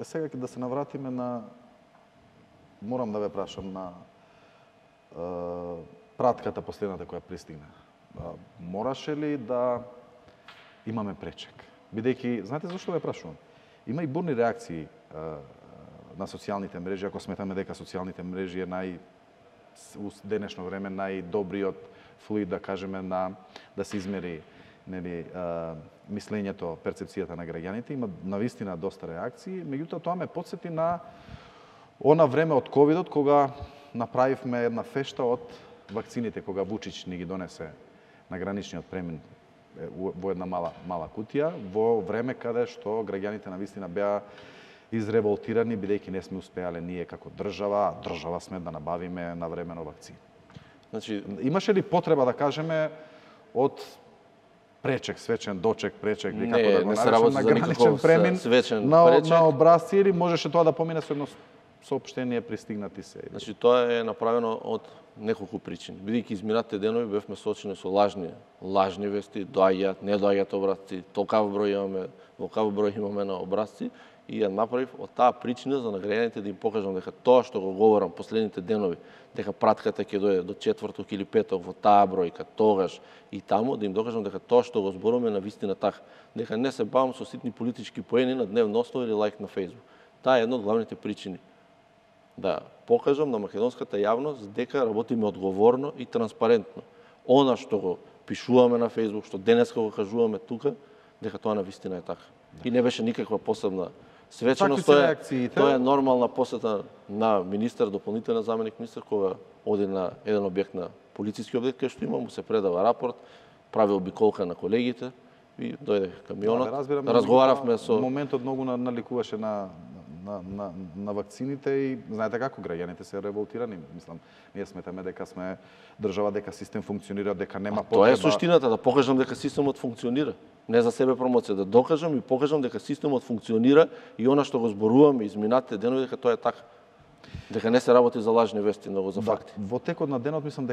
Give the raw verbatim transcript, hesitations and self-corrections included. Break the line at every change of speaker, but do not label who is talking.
Е, сега ќе да се навратиме на, морам да ве прашам, на е, пратката последната која пристигна. Мораше ли да имаме пречек? Бидејќи, знаете зашто ве прашувам? Има и бурни реакции е, на социјалните мрежи, ако сметаме дека социјалните мрежи е нај у денешно време најдобриот флуид, да кажеме, на да се измери, нели, а, мислењето, перцепцијата на граѓаните. Има навистина доста реакции, меѓутоа тоа ме потсети на она време од ковидот, кога направивме една фешта од вакцините, кога Вучич ни ги донесе на граничниот премин во една мала мала кутија, во време каде што граѓаните навистина беа изреволтирани, бидејќи не сме успеале ние како држава, а држава сме да набавиме навремено вакцини. Значи, имаше ли потреба да кажеме од пречек, свечен дочек, пречек, или како да го наречем, на граничен премин на, пречек. на образци, или можеше тоа да помине со едно соопштение пристигнати се?
Значи, тоа е направено од неколку причини. Бидејќи изминатите денови бевме соочени со лажни, лажни вести, доаѓаат, не доаѓаат образци, толкав број имаме, толкав број имаме на образци, и ја направив од таа причина за граѓаните да им покажам дека тоа што го говорам последните денови, дека пратката ќе дојде до четврток или петок во таа бројка, тогаш и таму, да им докажам дека тоа што го зборуваме на вистина така, дека не се бавам со ситни политички поени на дневно основа или лайк на Facebook. Таа е една од главните причини. Да покажам на македонската јавност дека работиме одговорно и транспарентно. Она што го пишуваме на Facebook, што денеска го кажуваме тука, дека тоа на вистина е така. И не беше никаква посебна свеченост, тоа е, тоа е нормална посета на министер, дополнителен заменик министер, кога оди на еден објект на полициски објект, кај што има, му се предава рапорт, прави обиколка на колегите и дојде камионот. Да, разговаравме со...
Моментот многу наликуваше на, на, на, на вакцините и знаете како граѓаните се револтирани. Мислам, ние сметаме дека сме држава, дека систем функционира, дека нема потреба...
Тоа е суштината, да покажам дека системот функционира. Не за себе промоција, да докажам и покажам дека системот функционира и она што го зборуваме изминатите денови дека тоа е така. Дека не се работи за лажни вести, но за факти.
Да, во текот на денот мислам дека